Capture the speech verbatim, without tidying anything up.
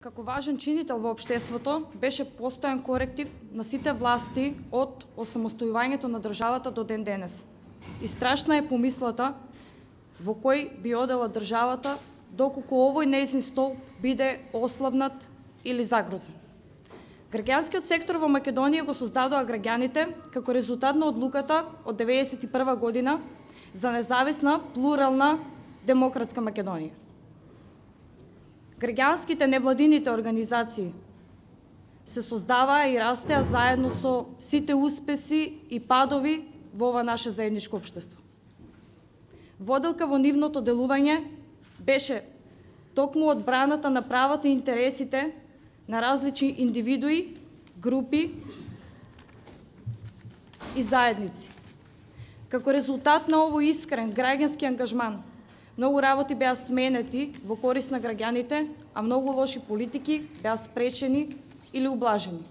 Како важен чинител во општеството, беше постојан коректив на сите власти од осамостојувањето на државата до ден денес. И страшна е помислата во кој би одела државата доколку овој нејзин стол биде ослабнат или загрозен. Граѓанскиот сектор во Македонија го создадоа граѓаните како резултат на одлуката од деветдесет и прва година за независна, плурална, демократска Македонија. Граѓанските невладините организации се создаваа и растеа заедно со сите успеси и падови во ова наше заедничко општество. Воделка во нивното делување беше токму одбраната на правата и интересите на различни индивидуи, групи и заедници. Како резултат на овој искрен граѓански ангажман, многу работи беа сменети во корист на граѓаните, а многу лоши политики беа спречени или ублажени.